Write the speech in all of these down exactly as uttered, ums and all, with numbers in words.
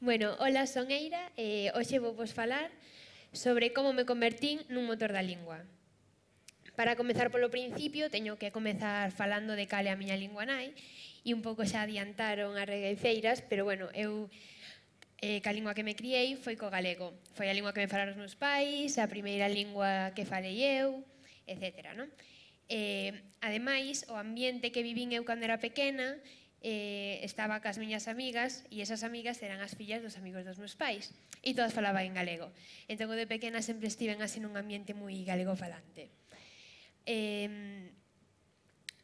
Bueno, hola, son Eira e hoxe vou vos falar sobre como me convertín nun motor da lingua. Para comezar polo principio, teño que comezar falando de cal é a miña lingua nai e un pouco xa adiantaron as regueifeiras, pero bueno, eu eh, ca lingua que me criei foi co galego. Foi a lingua que me falaron os meus pais, a primeira lingua que falei eu, etcétera. Non? Eh, ademais, o ambiente que vivín eu cando era pequena, eh, estaba cas miñas amigas e esas amigas eran as fillas dos amigos dos meus pais e todas falaban en galego. Entón, eu de pequena sempre estiven así nun ambiente moi galego falante. Eh,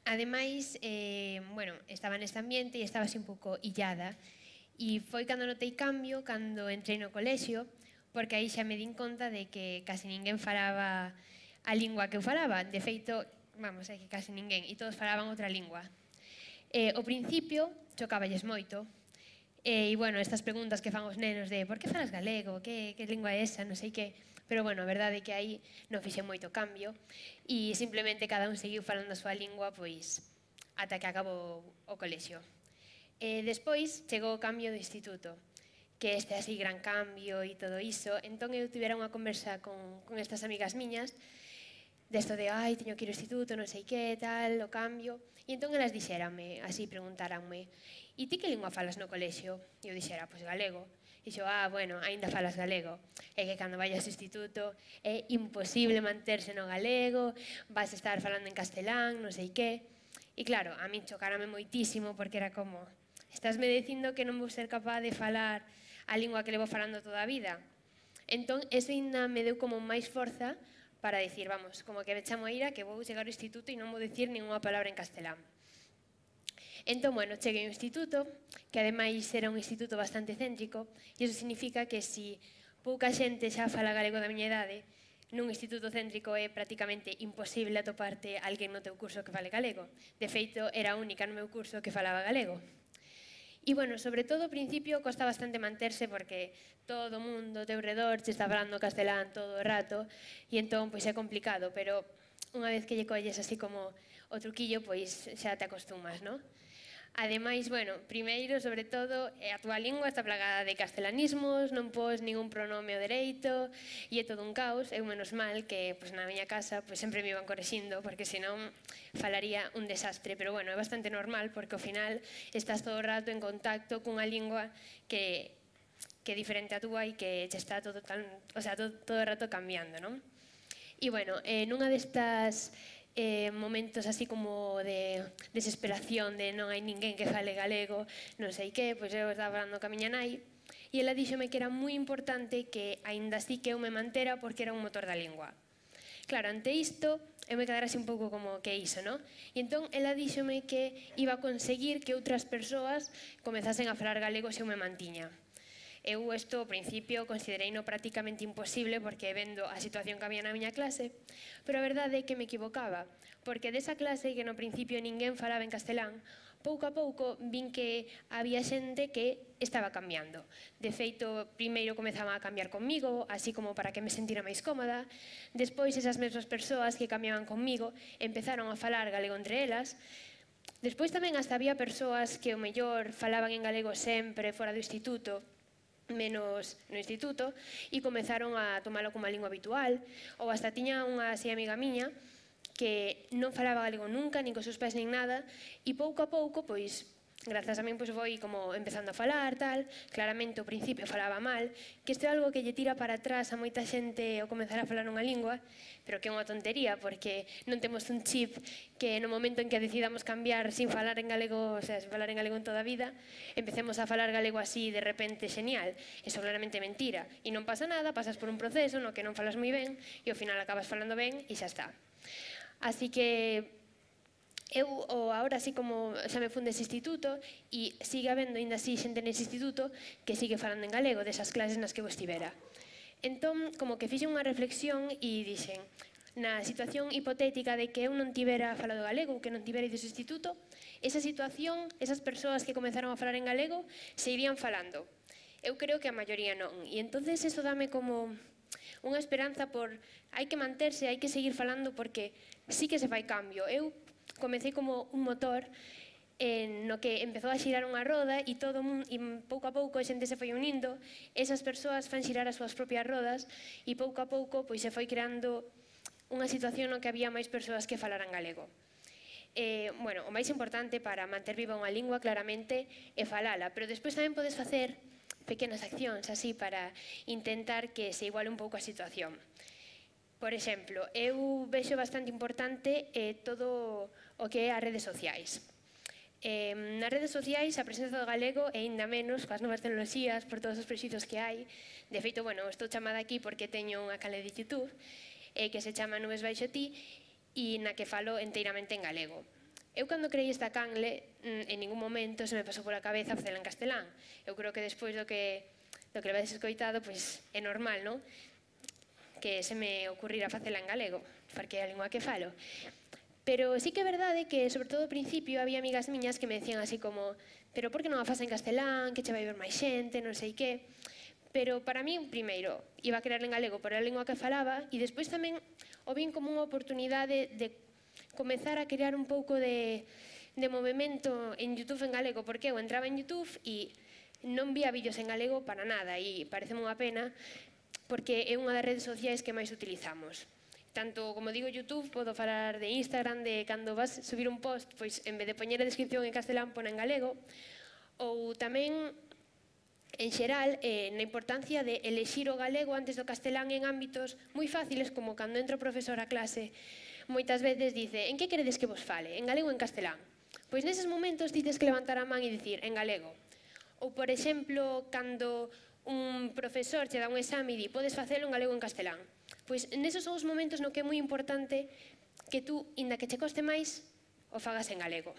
ademais, eh, bueno, estaba neste ambiente e estaba así un pouco illada e foi cando notei cambio, cando entrei no colexio, porque aí xa me din conta de que casi ninguén falaba a lingua que eu falaba. De feito, vamos, é que casi ninguén, e todos falaban outra lingua. Eh, ao principio, chocaballes moito, e, bueno, estas preguntas que fan os nenos de por que falas galego, que, que lingua é esa, non sei que, pero, bueno, a verdade é que aí non fixe moito cambio e simplemente cada un seguiu falando a súa lingua, pois, ata que acabou o colexio. E despois chegou o cambio do instituto, que este así gran cambio e todo iso, entón eu tivera unha conversa con, con estas amigas miñas, desto de, ai, teño que ir ao instituto, non sei que, tal, o cambio. E entón elas dixéranme, así preguntaranme, e ti que lingua falas no colexio? E eu dixera, pois galego. E xo, ah, bueno, aínda falas galego. É que cando vayas ao instituto é imposible manterse no galego, vas estar falando en castelán, non sei que. E claro, a min chocárame moitísimo porque era como, estásme dicindo que non vou ser capaz de falar a lingua que levo falando toda a vida? Entón, eso ainda me deu como máis forza para dicir, vamos, como que me chamo Eira, que vou chegar ao instituto e non vou dicir ninguna palabra en castelán. Entón, bueno, cheguei ao instituto, que ademais era un instituto bastante céntrico, e iso significa que se pouca xente xa fala galego da miña idade, nun instituto céntrico é prácticamente imposible atoparte alguén no teu curso que fale galego. De feito, era a única no meu curso que falaba galego. E, bueno, sobre todo, ao principio, costa bastante manterse porque todo o mundo ao teu redor che está falando castelán todo o rato e entón, pois, é complicado, pero unha vez que lle colles así como o truquillo, pois, xa te acostumas, non? Ademais, bueno, primeiro, sobre todo, a túa lingua está plagada de castelanismos, non pos ningún pronome ao dereito e é todo un caos. Eu, menos mal, que pois, na miña casa pois, sempre me iban correxindo porque senón falaría un desastre, pero bueno, é bastante normal porque ao final estás todo o rato en contacto cunha lingua que, que é diferente a túa e que che está todo, tan, o sea, todo, todo o rato cambiando, non? E bueno, eh, nunha destas eh, momentos así como de desesperación, de non hai ninguén que fale galego, non sei que, pois eu estaba falando ca miña nai e ela díxome que era moi importante que aínda así que eu me mantera porque era un motor da lingua. Claro, ante isto, eu me quedara así un pouco como que iso, non? E entón, ela díxome que iba a conseguir que outras persoas comezasen a falar galego se eu me mantiña. Eu isto, ao principio, considerei no prácticamente imposible porque vendo a situación que había na miña clase, pero a verdade é que me equivocaba, porque desa clase que no principio ninguén falaba en castelán, pouco a pouco vin que había xente que estaba cambiando. De feito, primeiro comezaba a cambiar comigo, así como para que me sentira máis cómoda. Despois, esas mesmas persoas que cambiaban comigo empezaron a falar galego entre elas. Despois tamén hasta había persoas que o mellor falaban en galego sempre fora do instituto, menos no instituto, e comezaron a tomalo como a lingua habitual, ou hasta tiña unha así amiga miña que non falaba galego nunca, nin cos seus pais nin nada, e pouco a pouco, pois, grazas a min, pois foi como empezando a falar, tal, claramente ao principio falaba mal, que isto é algo que lle tira para atrás a moita xente ao comezar a falar unha lingua, pero que é unha tontería, porque non temos un chip que no momento en que decidamos cambiar sin falar en galego, o sea, sin falar en galego en toda a vida, empecemos a falar galego así de repente xenial. Eso claramente é mentira. E non pasa nada, pasas por un proceso no que non falas moi ben e ao final acabas falando ben e xa está. Así que eu agora así como xa me fun dese instituto e sigue habendo ainda así xente nese instituto que sigue falando en galego desas clases nas que eu estivera. Entón, como que fixen unha reflexión e dixen, na situación hipotética de que eu non tivera falado galego ou que non tivera ido ao instituto, esa situación, esas persoas que comenzaron a falar en galego, se irían falando. Eu creo que a maioría non. E entonces eso dame como unha esperanza por hai que manterse, hai que seguir falando porque sí que se fai cambio. Eu comecei como un motor no que empezou a xirar unha roda e todo e pouco a pouco a xente se foi unindo, esas persoas fan xirar as súas propias rodas e pouco a pouco pois, se foi creando unha situación no que había máis persoas que falaran galego. Eh, bueno, o máis importante para manter viva unha lingua claramente é falala, pero despois tamén podes facer pequenas accións así para intentar que se iguale un pouco a situación. Por exemplo, eu vexo bastante importante eh, todo o que é as redes sociais. Eh, nas redes sociais a presenza do galego é ainda menos coas novas tecnoloxías, por todos os prexuizos que hai. De feito, bueno, estou chamada aquí porque teño unha canle de YouTube eh, que se chama Nubes Baixo Ti e na que falo enteiramente en galego. Eu cando creí esta canle, en ningún momento se me pasou pola cabeza facela en castelán. Eu creo que despois do que, do que levedes escoitado, pois é normal, non? Que se me ocurrira facela en galego, porque é a lingua que falo. Pero sí que é verdade que, sobre todo ao principio, había amigas miñas que me decían así como pero por que non a faz en castelán, que che vai ver máis xente, non sei que. Pero para mí, primeiro, iba a crear en galego por a lingua que falaba e despois tamén o vin como unha oportunidade de comezar a crear un pouco de, de movimento en YouTube en galego, porque eu entraba en YouTube e non vía vídeos en galego para nada e pareceme unha pena porque é unha das redes sociais que máis utilizamos. Tanto, como digo, YouTube, podo falar de Instagram, de cando vas subir un post, pois en vez de poñer a descripción en castelán, pon en galego, ou tamén, en xeral, eh, na importancia de elexir o galego antes do castelán en ámbitos moi fáciles, como cando entra o profesor a clase, moitas veces dice, en que queredes que vos fale, en galego ou en castelán? Pois neses momentos dices que levantar a man e dicir, en galego. Ou, por exemplo, cando un profesor che dá un exame e di, podes facelo en galego ou en castelán. Pois nesos son os momentos no que é moi importante que tú, inda que che coste máis, o fagas en galego.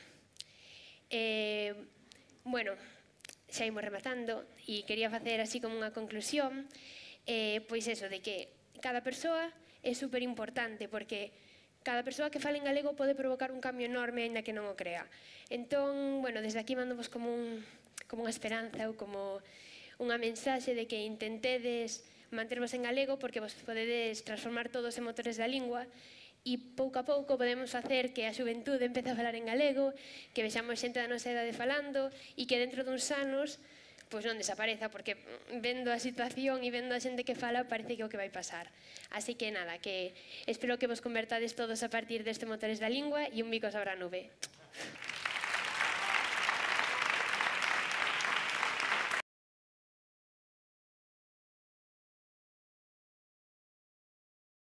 Eh, bueno, xa imos rematando e quería facer así como unha conclusión, eh, pois eso, de que cada persoa é super importante porque cada persoa que fale en galego pode provocar un cambio enorme aínda que non o crea. Entón, bueno, desde aquí mando vos como, un, como unha esperanza ou como unha mensaxe de que intentedes mantervos en galego porque vos podedes transformar todos en motores da lingua e pouco a pouco podemos facer que a xuventude empece a falar en galego, que vexamos xente da nosa idade falando e que dentro duns anos pois non desapareza, porque vendo a situación e vendo a xente que fala parece que é o que vai pasar. Así que nada, que espero que vos convertades todos a partir deste motores da lingua e un bico sobre a nube.